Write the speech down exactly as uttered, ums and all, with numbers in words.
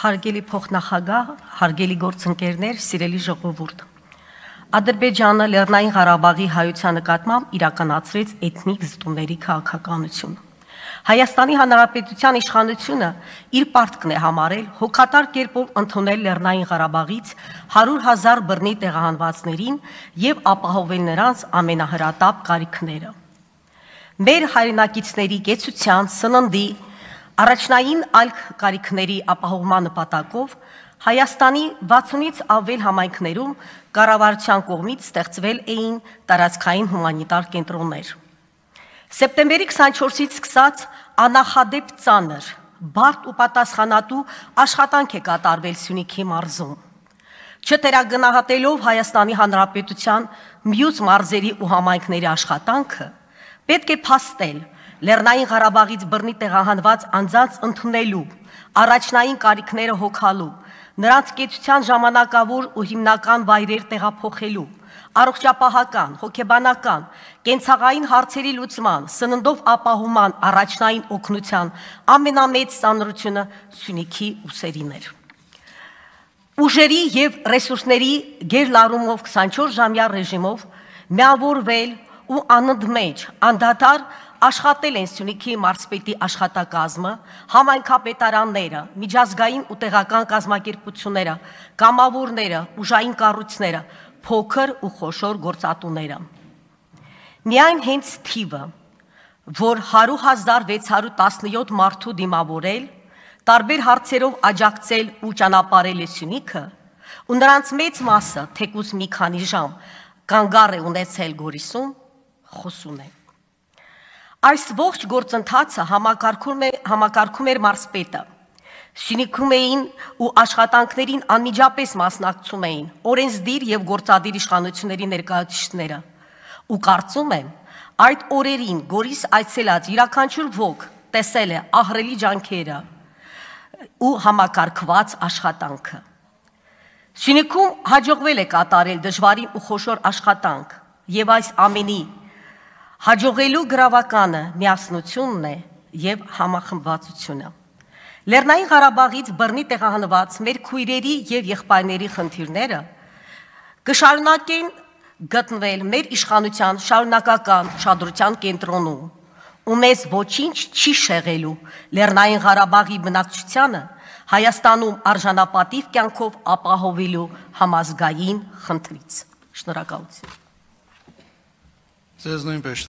Հարգելի փոխնախագահ, հարգելի գործընկերներ, սիրելի ժողովուրդ։ Ադրբեջանը Լեռնային Ղարաբաղի հայության նկատմամբ իրականացրեց էթնիկ զտումների քաղաքականություն։ Հայաստանի Հանրապետության իշխանությունը իր պարտքն է համարել հոգատար կերպով ընդունել Լեռնային Ղարաբաղից հարյուր հազար բռնի տեղահանվածներին եւ ապահովել նրանց ամենահրատապ կարիքները։ Մեր հայրենակիցների կեցության, սննդի, առաջնային այլ կարիքների ապահովման նպատակով Հայաստանի վաթսունից ավել համայնքներում կառավարության կողմից ստեղծվել էին տարածքային հումանիտար կենտրոններ։ Սեպտեմբերի քսանչորսից սկսած աննախադեպ ծանր, բարդ ու պատասխանատու աշխատանք է կատարվել Սյունիքի մարզում։ Չտերագնահատելով Հայաստանի Հանրապետության մյուս մարզերի ու համայնքների աշխատանքը, պետք է փաստել Լեռնային Ղարաբաղից բռնի տեղահանված անձանց ընդունելու, առաջնային կարիքները հոգալու, նրանց կեցության ժամանակավոր ու հիմնական վայրեր տեղափոխելու, առողջապահական, հոգեբանական, կենցաղային հարցերի լուծման, սննդով ապահովման առաջնային օգնության ամենամեծ ծանրությունը Սյունիքի ուսերին էր։ Ուժերի և ռեսուրսների գերլարումով քսանչորս ժամյա ռեժիմով միավորվել ու անընդմեջ, անդադար աշխատել են Սյունիքի մարզպետի աշխատակազմը, համայնքապետարանները, միջազգային ու տեղական կազմակերպությունները, կամավորները, ուժային կառույցները, փոքր ու խոշոր գործատուները։ Միայն հենց թիվը, որ հարյուր հազար վեց հարյուր տասնյոթ մարդու դիմավորել, տարբեր հարցերով աջակցել ու ճանապարհել է Սյունիքը, ու նրանց մեծ մասը, թեկուզ մի քանի ժամ, կանգառ է ունեցել Գորիսում, խոսուն է։ Այս ողջ գործընթացը համակարգում էր մարզպետը։ Սյունիքում էին ու աշխատանքներին անմիջապես մասնակցում էին օրենսդիր և գործադիր իշխանությունների ներկայացուցիչները։ Ու կարծում եմ, այդ օրերին Գորիս այցելած յուրաքանչյուր ոք տեսել է ահռելի ջանքերը ու համակարգված աշխատանքը։ Սյունիքում հաջողվել է կատարել դժվարին ու խոշոր աշխատանք, և այս ամենի հաջողելու գրավականը միասնությունն է և համախմբվածությունը։ Լեռնային Ղարաբաղից բռնի տեղահանված մեր քույրերի և եղբայրների խնդիրները կշարունակեն գտնվել մեր իշխանության շարունակական ուշադրության կենտրոնում, ու մեզ ոչինչ չի շեղելու Լեռնային Ղարաբաղի բնակչությանը Հայաստանում արժանապատիվ կյանքով ապահովելու համազգային խնդրից։ Շնորհակալություն։ Ձեզ նույնպես